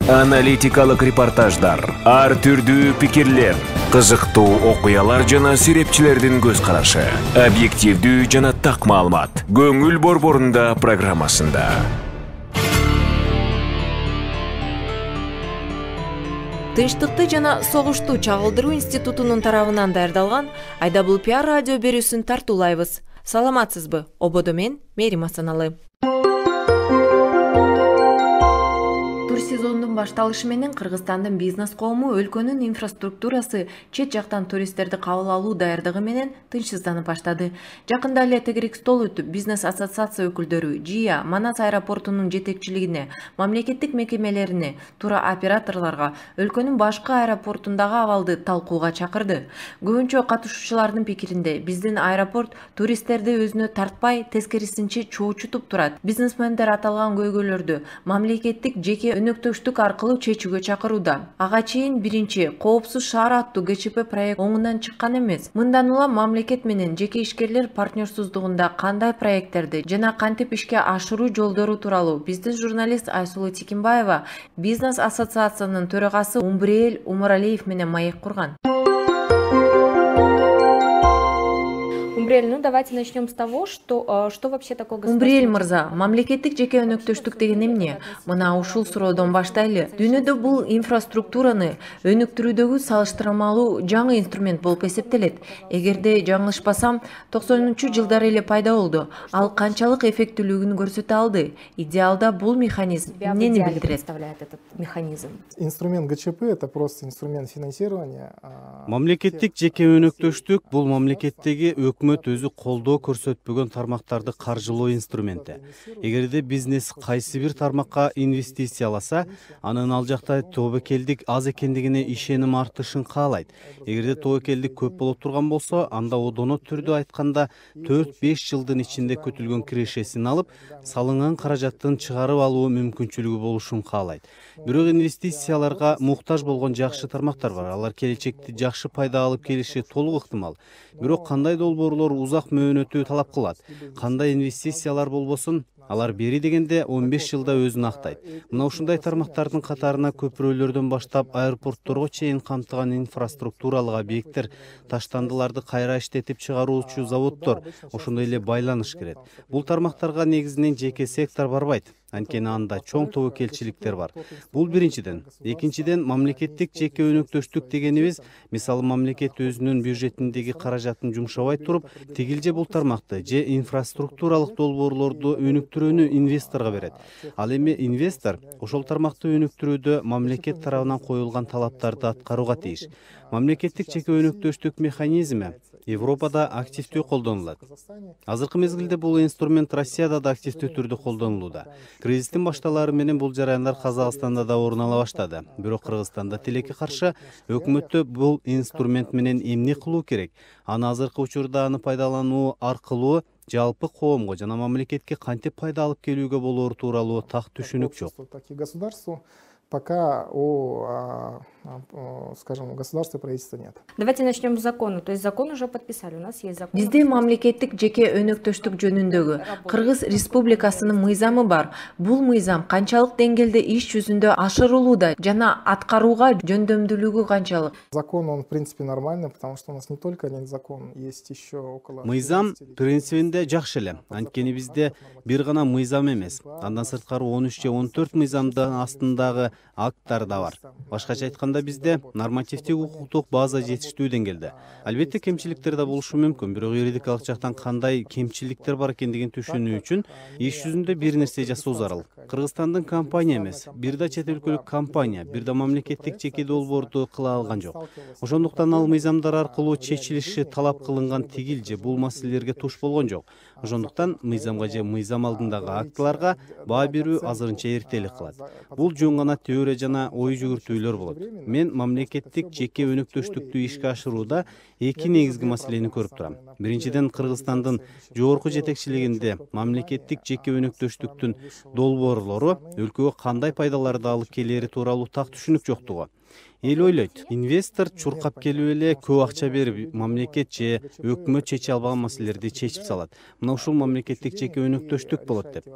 Аналитикалык репортаждар, ар түрдүү пикирлер, кызыктуу окуялар жана серепчилердин көз карашы. Объективдүү жана так маалымат. Көңүл борборунда программасында. Тынчтыкты жана согушту чагылдыруу институтунун тарабынан даярдалган Айдабул пиар радио берүүсүн тартуулайбыз. Саламатсызбы? Ободо мен Мерим Асаналы. Тур сезондун башталышы менен Кыргызстандын бизнес коому өлкөнүн инфраструктурасы чет жактан туристтерди кабыл алуу даярдыгы менен тынчсызданып баштады. Жакында эле тегерек стол өтүп, бизнес ассоциация өкүлдөрү ЖИА, Манас аэропортунун жетекчилигине, мамлекеттик мекемелерине, туроператорлорго өлкөнүн башкы аэропортундагы абалды талкууга чакырды. Көбүнчө катышуучулардын пикиринде, биздин аэропорт туристтерди өзүнө тартпай, тескерисинче чоочутуп турат. Бизнесмендер аталган көйгөйлөрдү мамлекеттик жеке өнөктөштүк аркылуу чечүүгө чакырууда. Ага чейин биринчи коопсуз шаар аттуу КЧП проект оңунан чыккан эмес. Мындан улам мамлекет менен жеке ишкерлер партнерсуздугунда кандай проекттерди жана кантип ишке ашыруу жолдору тууралуу биздин журналист Айсулуу Тикимбаева бизнес ассоциациянын төрагасы Умбриэль Умаралиев менен маек курган. Умбриэль, ну давайте начнем с того, что вообще такое государство. Умбриэль мырза, мамлекеттик жеке өнөктөштүк деген эмне? Мына ушул суроодон баштайлы. Дүйнөдө бул инфраструктураны өнүктүрүүдөгү салыштырмалуу жаңы инструмент болуп эсептелет. Эгерде жаңылышпасам, 90-жылдары эле пайда болду. Ал канчалык эффектүүлүгүн көрсөтө алды? Идеалда бул механизм эмнени билдирет? Представляет этот механизм? Инструмент ГЧП — это просто инструмент финансирования. Мамлекеттик жеке өнөктөштүк бул мамлекеттеги өкмөт өзү колдоо көрсөтпөгөн тармактарды каржылоо инструменти. Эгерде бизнес кайсы бир тармакка инвестицияласа, анын ал жакта тобокелдик аз экендигине ишеним артышын каалайт. Эгерде тобокелдик көп болуп турган болсо, анда одоно түрдө айтканда 4-5 жылдын ичинде күтүлгөн кирешесин алып, салынган каражаттын чыгарып алуу мүмкүнчүлүгү болушун каалайт. Бирок инвестицияларга муктаж болгон жакшы тармактар бар. Алар келечекте жакшы пайда алып келиши толук ыктымал. Бирок кандай долбоорлор узак мөөнөтү талап кылат. Кандай инвестициялар болбосун, алар бери дегенде 15 жылда өзүн актайт. Мына ушундай тармактардын катарына көпүрөлөрдөн баштап аэропортторго чейин камтыган инфраструктуралык объекттер, таштандыларды кайра иштетип чыгаруучу заводдор, ошондой эле байланыш кирет. Бул тармактарга негизинен жеке сектор барбайт. Анткени анда чоң тобокелчиликтер бар. Бул биринчиден. Экинчиден, мамлекеттик жеке өнөктөштүк дегенибиз, мисалы мамлекет өзүнүн бюджетиндеги каражатын жумшабай туруп, тигил бул тармакты же инфраструктуралык долбоорлорду өнүктүрүүнү инвесторго берет. Ал эми инвестор ошол тармакты өнүктүрүүдө мамлекет тарабынан коюлган талаптарды аткарууга тийиш. Мамлекеттик жеке өнөктөштүк механизми Европада активдүү колдонулат. Азыркы мезгилде бул инструмент Россияда да активдүү түрдө колдонулууда. Кризистин башталары менен бул жараяндар Казакстанда да орун ала баштады. Бирок Кыргызстанда тилекке каршы өкмөттө бул инструмент менен эмне кылуу керек? Аны азыркы учурда аны пайдалануу аркылуу жалпы коомго жана мамлекетке кантип пайда алып келүүгө болоору тууралуу так түшүнүк жок. Пока скажем, государства и правительства нет. Давайте начнем с закона. То есть закон уже подписали. У нас есть закон. Бизде мамлекеттик жеке өнөктөштүк жөнүндөгү Кыргыз Республикасынын мыйзамы бар. Бул мыйзам канчалык деңгээлде иш жүзүндө ашырылууда жана аткарууга жөндөмдүүлүгү канчалык? Закон, он в принципе нормальный, потому что у нас не только один закон, есть еще около... Мыйзам принцибинде жакшы эле. Анткени бизде бир гана мыйзам эмес. Андан сырткары 13 же 14 мыйзамдын астындагы акттар да бар. Башкача айтканда бизде нормативдик укуктук база жетиштүү деңгээлде. Албетте кемчиликтер да болушу мүмкүн, бирок юридикалык жактан кандай кемчиликтер бар экендигин түшүнүү үчүн иш жүзүндө бир нерсе жасоо зарыл. Кыргызстандын компания эмес, бир да чет өлкөлүк компания, бир да мамлекеттик жеке долбоорду кыла алган жок. Ошондуктан ал мыйзамдар аркылуу чечилиши талап кылынган тигил же бул маселелерге туш болгон жок. Ошондуктан мыйзамга же мыйзам алдындагы актыларга баа берүү азырынча эртелик кылат. Бул жөн гана теория жана ой жүгүртүүлөр болот. Мен мамлекеттик жеке өнөктөштүктү ишке ашырууда эки негизги маселени көрүп турам. Биринчиден, Кыргызстандын жогорку жетекчилигинде мамлекеттик жеке өнөктөштүктүн долбоорлору өлкөгө кандай пайдаларды алып келери тууралуу так түшүнүк жоктугу. эл ойлойт, инвестор чуркап келип эле көп акча берип, мамлекет же өкмөт чече албаган маселелерди чечип салат. Мына ушул мамлекеттик жеке өнөктөштүк болот деп.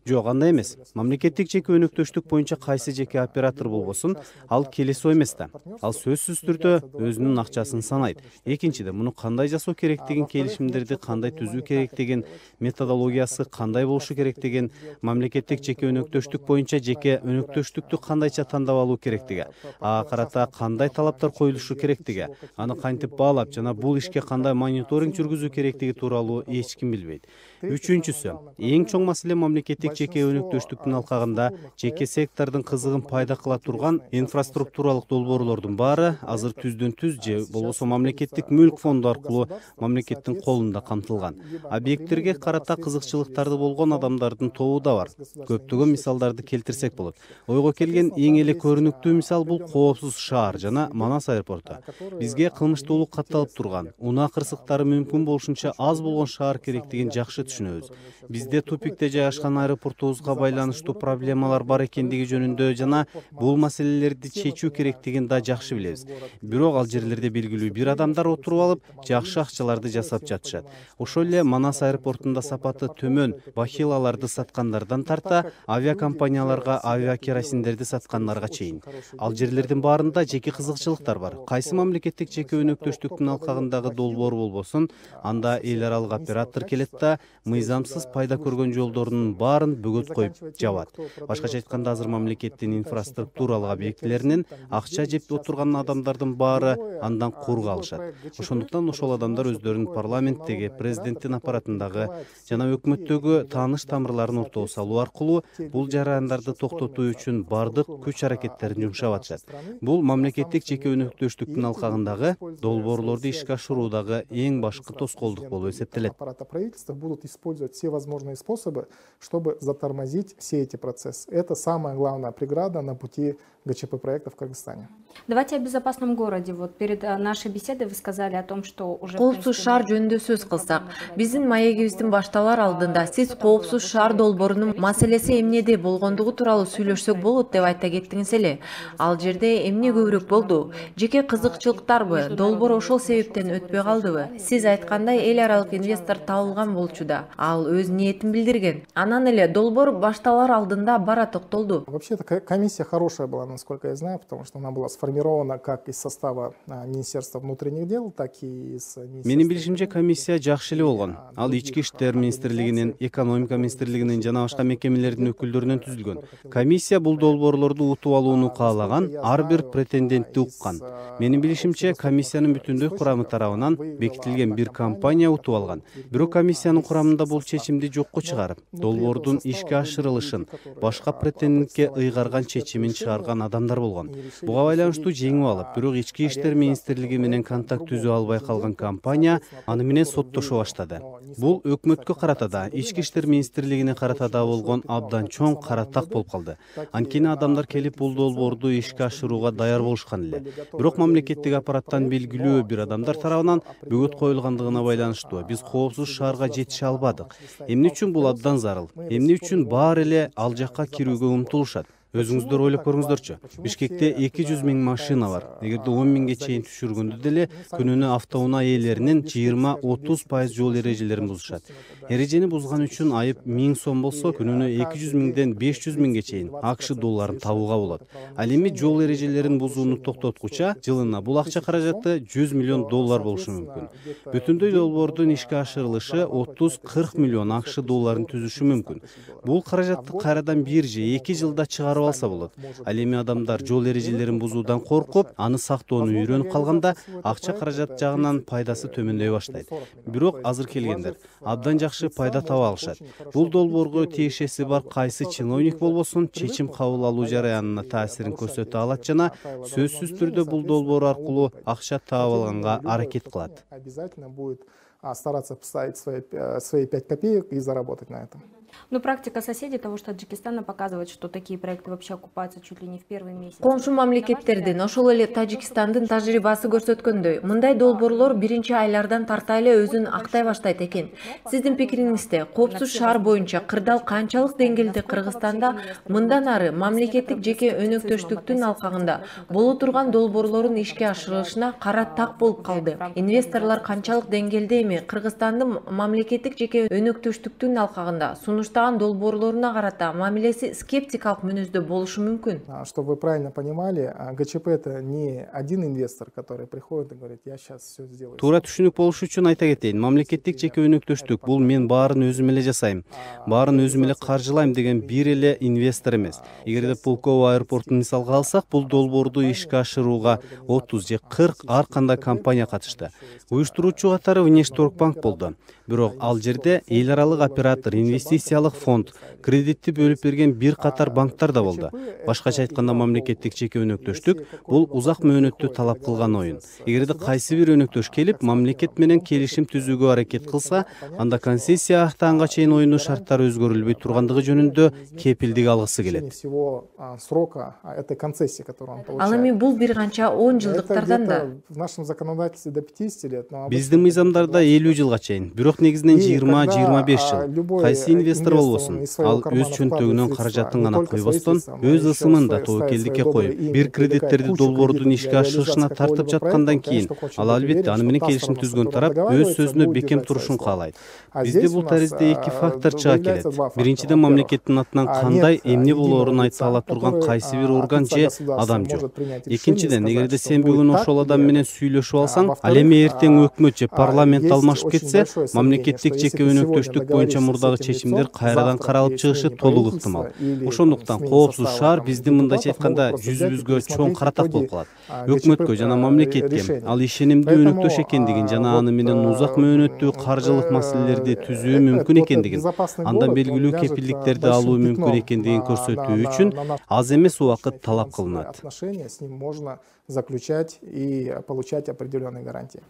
Жок, андай эмес. Мамлекеттик жеке өнөктөштүк боюнча кайсы жеке оператор болбосун, ал келесоо эмес да. Ал сөзсүз түрдө өзүнүн акчасын санайт. Экинчиден, муну кандай жасоо керектигин, келишимдерди кандай түзүү керектигин, методологиясы кандай болушу керектигин, мамлекеттик жеке өнөктөштүк боюнча жеке өнөктөштүктү кандайча тандап алуу керектиги, ага карата кандай талаптар коюлушу керектиги, аны кантип баалап жана бул ишке кандай мониторинг жүргүзүү керектиги тууралуу эч ким билбейт. Үчүнчүсү, эң чоң маселе мамлекеттик жеке өнөктөштүктүн алкагында жеке сектордун кызыгын пайда кыла турган инфраструктуралык долбоорлордун баары азыр түздөн түз же болбосо мамлекеттик мүлк фонду аркылуу мамлекеттин колунда камтылган. Объекттерге карата кызыкчылыктарды болгон адамдардын тобу да бар. Көптөгөн мисалдарды келтирсек болот. Ойго келген эң эле көрүнүктүү мисал бул коопсуз шаар жана Манас аэропорту. Бизге кылмыштуулук катталып турган, унаа кырсыктары мүмкүн болушунча аз болгон шаар керектигин жакшы түшүнөбүз. Бизде тупикте жайгашкан аэропортубузга байланыштуу проблемалар бар экендиги жөнүндө жана бул маселелерди чечүү керектигин да жакшы билебиз. Бирок ал жерлерде белгилүү бир адамдар отуруп алып, жакшы акчаларды жасап жатышат. Ошол эле Манас аэропортунда сапаты төмөн бахилаларды саткандардан тарта авиакомпанияларга авиакеросиндерди саткандарга чейин. Ал жерлердин баарында жеке кызыкчылыктар бар. Кайсы мамлекеттик жеке өнөктөштүктүн алкагындагы долбоор болбосун, анда эл аралык оператор келет да мыйзамсыз пайда көргөн жолдорунун баарын бөгөт коюп жабат. Башкача айтканда, азыр мамлекеттин инфраструктуралык объектилеринин акча жеп отурган адамдардын баары андан кур калышат. Ошондуктан ошол адамдар өздөрүнүн парламенттеги, президенттин аппаратындагы жана өкмөттөгү тааныш тамырларын ортого салуу аркылуу бул жарандарды токтотуу үчүн бардык күч аракеттерин жумшап атышат. Бул мамлекеттик жеке өнөктөштүктүн алкагындагы долбоорлорду ишке ашыруудагы эң башкы тоскоолдук болуп эсептелет. Правительства будут использовать все возможные способы, чтобы затормозить все эти процессы. Это самая главная преграда на пути ГЧП проекта в Кыргызстане. Давайте о безопасном городе. Вот перед нашей беседой вы сказали о том, что уже... Коопсуз шаар жөнүндө сөз кылсак, биздин маегибиздин башталар алдында сиз коопсуз шаар долбоорунун маселеси эмнеде болгондугу тууралуу сүйлөшсөк болот деп айта кеттиңиз эле. Ал жерде эмне көбүрөөк болду? Жеке кызыкчылыктарбы? Долбоор ошол себептен өтпөй калдыбы? Сиз айткандай эл аралык инвестор табылган болчу да. Ал өз ниетин билдирген. Анан эле долбоор башталар алдында бара токтолду. Вообще-то комиссия хорошая была, насколько я знаю, потому что она была сформирована как из состава Министерства внутренних дел, так и из... Менин билишимче комиссия жакшы эле болгон. Ал ички иштер министрлигинин, экономика министрлигинин жана башка мекемелердин өкүлдөрүнөн түзүлгөн. Комиссия бул долбоорлорду утуп алууну каалаган, ар бир претендентти уккан. Менин билишимче комиссиянын бүтүндөй курамы тарабынан бекитилген бир компания утуп алган. Бирок комиссиянын курамында бул чечимди жокко чыгарып, долбоордун ишке ашырылышын, башка претендентке ыйгарган чечимин чыгарган адамдар болгон. Буга байланыштуу жеңип алып, бирок ички иштер министрлиги менен контакт түзө албай калган компания аны менен соттошо баштады. Бул өкмөткө карата да, ички иштер министрлигине карата да болгон абдан чоң кара так болуп калды. Анткени адамдар келип бул долбоорду ишке ашырууга даяр болушкан эле. Бирок мамлекеттик аппараттан белгилүү бир адамдар тарабынан бөгөт коюлгандыгына байланыштуу биз коопсуз шаарга жетише албадык. Эмне үчүн бул абдан зарыл? Эмне үчүн баары эле ал жакка кирүүгө умтулушат? Өзүңүздөр ойлоп көрүңүздөрчү. Бишкекте 200 миң машина бар. Эгерде 10 миңге чейин түшүргөндө деле күнүнө автоунаа ээлеринин 20-30% жол эрежелерин бузушат. Эрежени бузган үчүн айып 1000 сом болсо, күнүнө 200 миңден 500 миңге чейин АКШ долларын табууга болот. Ал эми жол эрежелерин бузууну токтоткуча жылына бул акча каражаты 100 миллион доллар болушу мүмкүн. Бүтүндөй долбоордун ишке ашырылышы 30-40 миллион АКШ долларын түзүшү мүмкүн. Бул каражатты кайрадан 1 же 2 жылда чыгарып алса болот. Ал эми адамдар жол эрежелерин бузуудан коркуп, аны сактоону үйрөнүп калганда, акча каражат жагынан пайдасы төмөндөй баштайт. Бирок азыр келгендер абдан жакшы пайда таба алышат. Бул долбоорго тиешеси бар кайсы чиновник болбосун, чечим кабыл алуу жараянына таасирин көрсөтө алат жана сөзсүз түрдө бул долбоор аркылуу акча таап алганга аракет кылат. Обязательно будет стараться поставить свои 5 копеек и заработать на этом. Но практика соседей того же Таджикистана показывает, что такие проекты вообще окупаются чуть ли не в первый месяц. Коңшу мамлекеттердин, ошол эле Тажикстандын тажрыйбасы көрсөткөндөй, мындай долбоорлор биринчи айлардан тарта эле өзүн актай баштайт экен. Сиздин пикириңизде, коопсуз шаар боюнча кырдаал канчалык деңгээлде Кыргызстанда мындан ары мамлекеттик жеке өнөктөштүктүн алкагында боло турган долбоорлордун ишке ашырылышына кара так болуп калды? Инвесторлор канчалык деңгээлде эми Кыргызстандын мамлекеттик жеке өнөктөштүктүн алкагында сунуштаган долбоорлоруна карата мамилеси скептикалык мүнөздө болушу мүмкүн? Чтобы вы правильно понимали, ГЧП это не один инвестор, который приходит и говорит, я сейчас все сделаю. Туура түшүнүк болуш үчүн айта кетейин, мамлекеттик жеке өнөктөштүк бул мен баарын өзүм эле жасайм, баарын өзүм эле каржылайм деген бир эле инвестор эмес. Эгерде Пулково аэропортун мисалга алсак, бул долбоорду ишке ашырууга 30 же 40 ар кандай компания катышты. Уюштуруучу катары Внешторгбанк болду. Бирок ал жерде эл аралык оператор, инвестициялык фонд, кредитти бөлүп берген бир катар банктар да болду. Башкача айтканда, мамлекеттик жеке өнөктөштүк бул узак мөөнөттү талап кылган оюн. Эгерде кайсы бир өнөктөш келип, мамлекет менен келишим түзүүгө аракет кылса, анда концессия актаганга чейин оюнун шарттары өзгөрүлбөй тургандыгы жөнүндө кепилдик алгысы келет. Ал эми бул бир канча 10 жылдыктардан да. В нашем законодательстве до 50 лет. Биздин мыйзамдарда 50 жылга чейин, бирок негизинен 20-25 жыл. Кайсы инвестор болбосун, ал өз чөнтөгүнөн каражатын гана койбостон, өз ысымын да тобокелдикке коюп, бир кредиттерди долбоордун ишке ашырышына тартып жаткандан кийин, ал албетте аны менен келишим түзгөн тарап өз сөзүнө бекем турушун каалайт. Бизде бул таризде эки фактор чыга келет. Биринчиден, мамлекеттин атынан кандай эмне болоорун айта ала турган кайсы бир орган же адам жок. Экинчиден, эгерде сен бүгүн ошол адам менен сүйлөшүп алсаң, ал эми эртең өкмөт же парламент алмашып кетсе, мамлекеттик жеке өнөктөштүк боюнча мурдагы чечимдер кайрадан каралып чыгышы толук ыктымал. Ошондуктан коопсуз шаар биздин мындайча айтканда жүзүбүзгө чоң каратак болуп калат. Өкмөткө жана мамлекетке ал ишенимдүү өнөктөш экендигин жана аны менен узак мөөнөттүү каржылык маселелерди түзүү мүмкүн экендигин, андан белгилүү кепилдиктерди алуу мүмкүн экендигин көрсөтүү үчүн аз эмес убакыт талап кылынат. Заключать и получать определенные гарантии.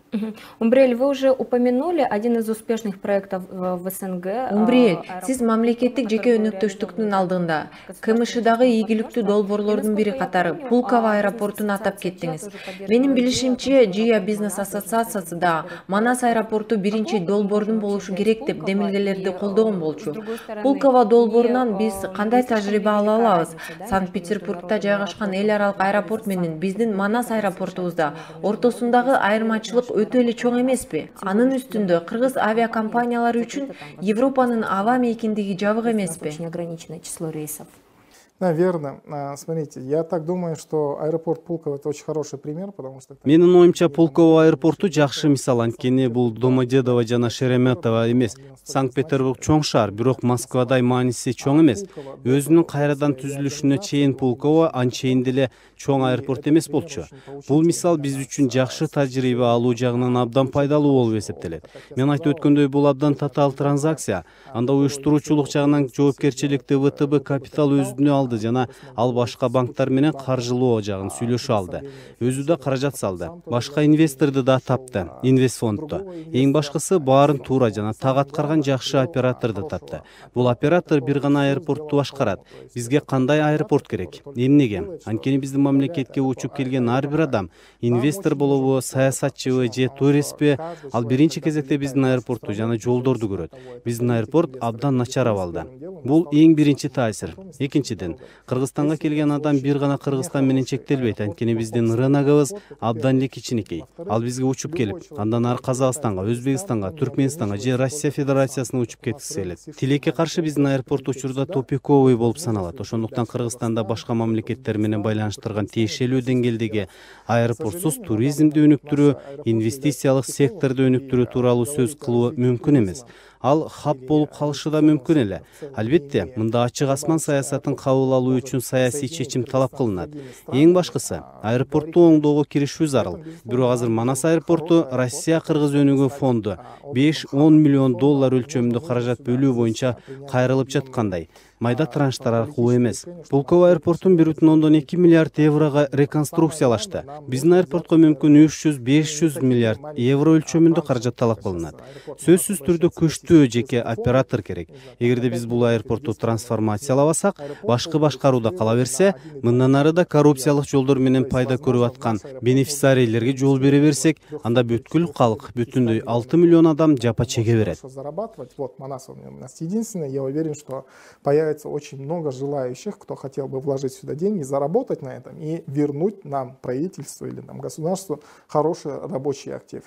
Умбриэль, вы уже упомянули один из успешных проектов в СНГ. Умбриэль, сиз мамлекеттик жеке өнөктөштүктүн алдында КМШдагы ийгиликтүү долбоорлордун бири катары Пулково аэропортун атап кеттиңиз. Менин билишимче, ЖИА бизнес ассоциациясы да Манас аэропорту биринчи долбоордун болушу керек деп демилгелерди колдогон болчу. Пулково долбоорунан биз кандай тажрыйба ала алабыз? Санкт-Петербургда жайгашкан эл аралык аэропорт менен биздин Манас аэропортубузда ортосундагы айырмачылык өтө эле чоң эмеспи? Анын үстүндө кыргыз авиакомпаниялары үчүн Европанын аба мейкиндиги жабык эмеспи? Неограниченное число рейсов. Наверное. Смотрите, я так думаю, что аэропорт Пулково это очень хороший пример, потому что... Менин оюмча, Пулково аэропорту жакшы мисал, анткени бул Домодедово жана Шереметово эмес. Санкт-Петербург чоң шаар, бирок Москвадай мааниси чоң эмес. Өзүнүн кайрадан түзүлүшүнө чейин Пулково анчейин деле чоң аэропорт эмес болчу. Бул мисал биз үчүн жакшы тажрыйба алуу жагынан абдан пайдалуу болуп эсептелет. Мен айтып өткөндөй, бул абдан татаал транзакция. Анда уюштуруучулук жагынан жоопкерчиликти ВТБ Капитал өзүнө алды жана ал башка банктар менен каржылоо жагын сүйлөшүп алды. Өзү да каражат салды. Башка инвесторду да тапты, инвестфондду. Эң башкысы баарын туура жана так аткарган жакшы операторду тапты. Бул оператор бир гана аэропортту башкарат. Бизге кандай аэропорт керек? Эмнеге? Анткени биздин мамлекетке учуп келген ар бир адам инвестор болобу, саясатчыбы же туристпи, ал биринчи кезекте биздин аэропортту жана жолдорду көрөт. Биздин аэропорт абдан начар абалда. Бул эң биринчи таасир. Экинчиден, Кыргызстанга келген адам бир гана Кыргызстан менен чектелбейт, анткени биздин рыногубуз абдан эле кичинекей. Ал бизге учуп келип, андан ары Казакстанга, Өзбекстанга, Түркмөнстанга же Россия Федерациясына учуп кеткиси келет. Тилекке каршы биздин аэропорт учурда тупиковый болуп саналат. Ошондуктан Кыргызстанда башка мамлекеттер менен байланыштырган тиешелүү деңгээлдеги аэропортсуз туризмди өнүктүрүү, инвестициялык секторду өнүктүрүү тууралуу сөз кылуу мүмкүн эмес. Ал хап болуп калышы да мүмкүн эле. Албетте, мында ачык асман саясатын кабыл алуу үчүн саясий чечим талап кылынат. Эң башкысы, аэропортту оңдоого киришүү зарыл. Бирок азыр Манас аэропорту Россия-Кыргыз өнүгүү фонду $5-10 миллион өлчөмүндө каражат бөлүү боюнча кайрылып жаткандай. майда транштар аркылуу эмес. Пулково аэропортун 1,2 миллиард еврого реконструкциялашты. Биздин аэропортко мүмкүн 300-500 миллиард евро өлчөмүндө каражат талап кылынат. Сөзсүз түрдө күчтүү жеке оператор керек. Эгерде биз бул аэропортту трансформациялабасак, башкы башкарууда кала берсе, мындан ары да коррупциялык жолдор менен пайда көрүп аткан бенефициарийлерге жол бере берсек, анда бүткүл калк, бүтүндөй 6 миллион адам жапа чеге берет. Вот Манас у нас единственный, я уверен, что появится очень много желающих, кто хотел бы вложить сюда деньги, заработать на этом и вернуть нам, правительству или нам, государству, хороший рабочий актив.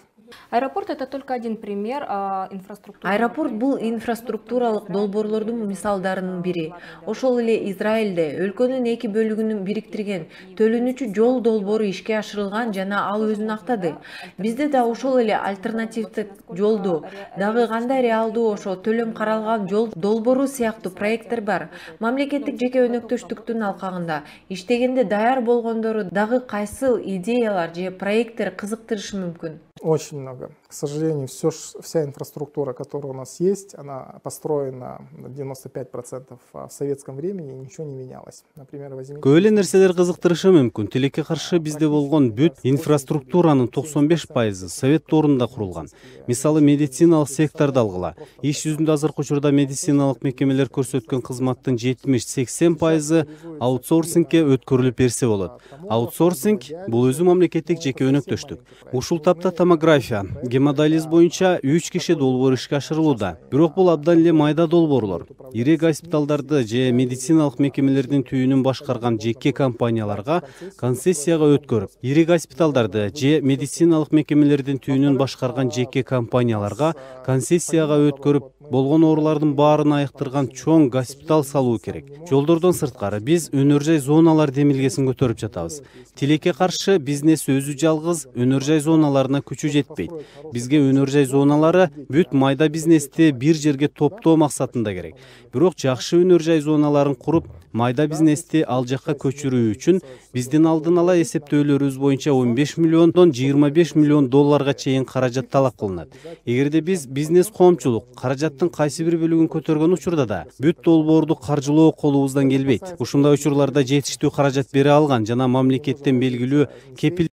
Аэропорт — это только один пример инфраструктуры. Аэропорт бул инфраструктуралык долбоорлордун мисалдарынын бири. Ошол эле Израилде өлкөнүн эки бөлүгүнүн бириктирген төлөнүүчү жол долбоору ишке ашырылган жана ал өзүн актады. Бизде да ошол эле альтернативдик жолду, дагы кандай реалдуу ошо төлөм каралган жол долбоору сыяктуу проекттер бар. Мамлекеттик жеке өнөктөштүктүн алкагында иштегенде даяр болгондору дагы кайсы идеялар же проекттер кызыктырышы мүмкүн? Очень много. К сожалению, вся инфраструктура, которая у нас есть, она построена на 95% в советском времени, и ничего не менялось. Например, возьмите... Көп эле нерселер кызыктырышы мүмкүн. Тилекке каршы бизде болгон бүт инфраструктуранын 95% совет доорунда курулган. Мисалы, медициналык секторду алгыла. Иш жүзүндө азыркы учурда медициналык мекемелер көрсөткөн кызматтын 70-80% аутсорсингке өткөрүлүп берсе болот. Аутсорсинг бул өзү мамлекеттик жеке өнөктөштүк. Ушул тапта томография, гемодиализ боюнча 3 киши долбоор ишке ашырылууда. Бирок бул абдан эле майда долбоорлор. Ири госпиталдарды же медициналык мекемелердин түйүнүн башкарган жеке компанияларга концессияга өткөрүп, ири госпиталдарды же медициналык мекемелердин түйүнүн башкарган жеке компанияларга концессияга өткөрүп, болгон оорулардын баарын айыктырган чоң госпиталь салуу керек. Жолдордон сырткары биз өнөр жай зоналар демилгесин көтөрүп жатабыз. Тилекке каршы бизнес өзү жалгыз өнөр жай зоналарына күчү жетпейт. Бизге өнөр жай зоналары бүт майда бизнести бир жерге топтоо максатында керек. Бирок жакшы өнөр жай зоналарын куруп, майда бизнести ал жакка көчүрүү үчүн биздин алдын ала эсептөөлөрүбүз боюнча 15 миллиондон 25 миллион долларга чейин каражат талап кылынат. Эгерде биз бизнес коомчулук каражаттын кайсы бир бөлүгүн көтөргөн учурда да бүт долбоорду каржылоо колубуздан келбейт. Ушундай учурларда жетиштүү каражат бере алган жана мамлекеттен белгилүү кепил